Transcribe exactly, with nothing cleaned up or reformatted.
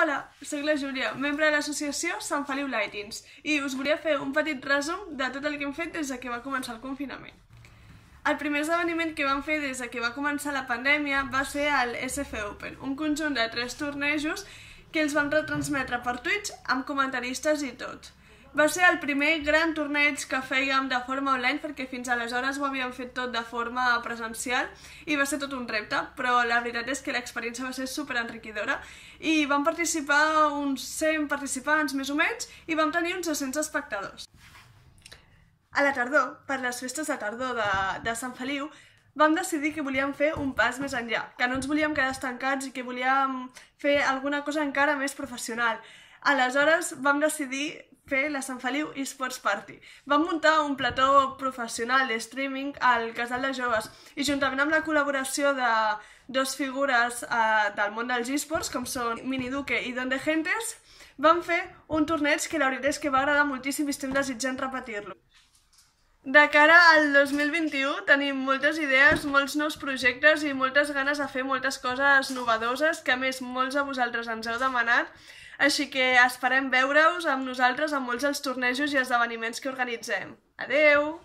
Hola, soc la Júlia, membre de l'associació Sant Feliu Lightings, i us volia fer un petit resum de tot el que hem fet des que va començar el confinament. El primer esdeveniment que vam fer des que va començar la pandèmia va ser el S F Open, un conjunt de tres tornejos que els vam retransmetre per Twitch amb comentaristes i tot. Va ser el primer gran torneig que fèiem de forma online perquè fins aleshores ho havíem fet tot de forma presencial i va ser tot un repte, però la veritat és que l'experiència va ser superenriquidora i vam participar uns cent participants més o menys i vam tenir uns dos-cents espectadors. A la tardor, per les festes de tardor de, de Sant Feliu, vam decidir que volíem fer un pas més enllà, que no ens volíem quedar estancats i que volíem fer alguna cosa encara més professional. Aleshores vam decidir fer la Sant Feliu eSports Party. Vam muntar un plató professional de streaming al Casal de Joves i juntament amb la col·laboració de dos figures eh, del món dels eSports, com són Miniduque i Don de Gentes, vam fer un torneig que la veritat és que va agradar moltíssim i estem desitjant repetir-lo. De cara al dos mil vint-i-u tenim moltes idees, molts nous projectes i moltes ganes de fer moltes coses novedoses que a més molts de vosaltres ens heu demanat, així que esperem veure-us amb nosaltres en molts dels tornejos i esdeveniments que organitzem. Adeu!